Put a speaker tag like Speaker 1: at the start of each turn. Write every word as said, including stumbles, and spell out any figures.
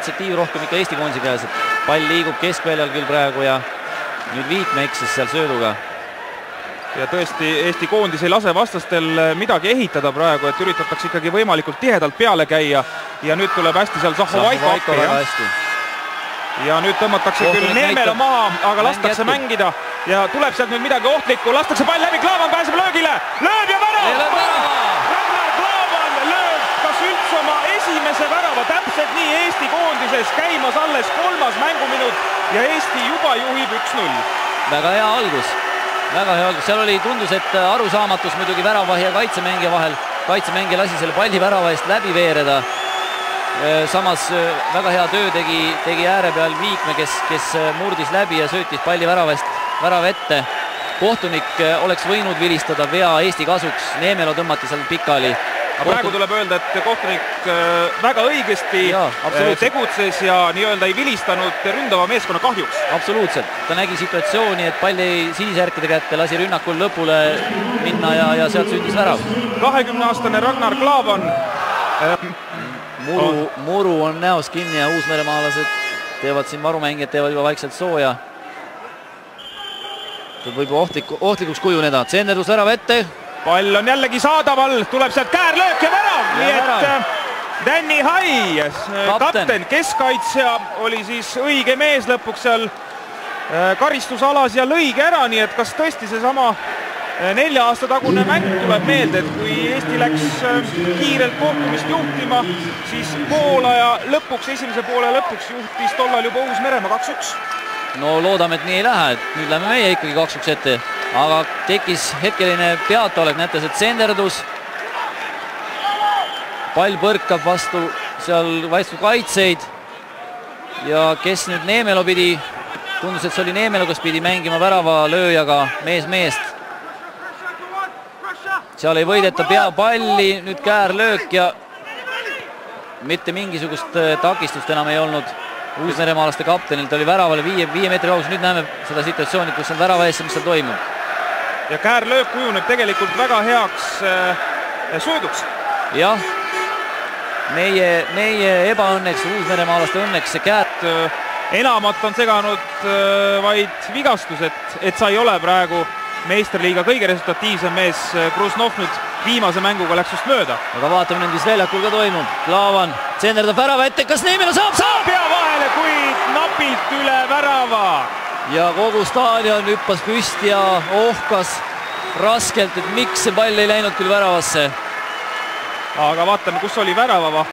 Speaker 1: initsiatiiv rohkem ikka Eesti koondise käes, et pall liigub keskväljal küll praegu ja nüüd Viikme eksis seal sööduga.
Speaker 2: Ja tõesti, Eesti koondis ei lase vastastel midagi ehitada praegu, et üritatakse ikkagi võimalikult tihedalt peale käia ja nüüd tuleb hästi seal Zahovaiko appi. Ja nüüd tõmmatakse küll Neemelo maha, aga lastakse mängida ja tuleb sealt nüüd midagi ohtlikku, lastakse pall läbi, Klaavan pääseb löögile, lööb ja värav! Ragnar Klaavan lööb kas üldse oma esimese värava, täpselt nii Eesti koondises käimas alles kolmas mänguminut ja Eesti juba juhib üks null.
Speaker 1: Väga hea algus, väga hea algus, seal oli tundus, et arusaamatus muidugi väravahi ja kaitsemängija vahel, kaitsemängija lasi selle palli värava eest läbi veereda. Samas väga hea töö tegi, tegi ääre peal Viikme, kes, kes murdis läbi ja söötis palli väravest, värava ette. Kohtunik oleks võinud vilistada vea Eesti kasuks, Neemelo tõmmati seal pikali.
Speaker 2: Kohtun... Praegu tuleb öelda, et kohtunik väga õigesti ja, tegutses ja nii-öelda ei vilistanud ründava meeskonna kahjuks.
Speaker 1: Absoluutselt, ta nägi situatsiooni, et pall jäi sinisjärkide kätte, lasi rünnakul lõpule minna ja, ja sealt sündis värav.
Speaker 2: kahekümne aastane Ragnar Klaavan
Speaker 1: Muru, muru on näos kinni ja uusmeremaalased teevad siin varumängijad, teevad juba vaikselt sooja. Võib ohtliku, ohtlikuks kujuneda. Tsenderdus värav ette.
Speaker 2: Pall on jällegi saadaval, tuleb sealt käärlöök ja värav. Ja nii värav. Et Danny Hai, kapten. kapten, keskkaitsja oli siis õige mees lõpuks seal karistusalas ja lõige ära, nii et kas tõesti see sama nelja aasta tagune mäng tuleb meelde, et kui Eesti läks kiirelt kohtumist juhtima, siis poolaja lõpuks, esimese poole lõpuks juhtis tollal juba Uus-Meremaa kaks üks.
Speaker 1: No loodame, et nii ei lähe, et nüüd lähme meie ikkagi kaks üks ette, aga tekkis hetkeline peataolek, näete see tsenderdus. Pall põrkab vastu seal vastu kaitseid ja kes nüüd Neemelo pidi, tundus, et see oli Neemelo, kes pidi mängima värava lööjaga mees meest. Seal ei võideta peapalli, nüüd käärlöök ja mitte mingisugust takistust enam ei olnud Uus-Meremaalaste kaptenilt, oli väravale viie, viie meetri kaugus, nüüd näeme seda situatsiooni, kus on värava ees, mis seal toimub.
Speaker 2: Ja käärlöök kujuneb tegelikult väga heaks äh, sööduks.
Speaker 1: Jah, meie, meie ebaõnneks, Uus-Meremaalaste õnneks see käär...
Speaker 2: Enamat on seganud äh, vaid vigastus, et, et sa ei ole praegu meisterliiga kõige resultatiivsem mees. Krusnov nüüd viimase mänguga läks just mööda.
Speaker 1: Aga vaatame nüüd, mis väljakul ka toimub. Klaavan tsenderdab värava ette, kas Neemelo saab?
Speaker 2: Saab pea vahele, kuid napilt üle värava.
Speaker 1: Ja kogu staadion hüppas püsti ja ohkas raskelt, et miks see pall ei läinud küll väravasse.
Speaker 2: Aga vaatame, kus oli värava vaht.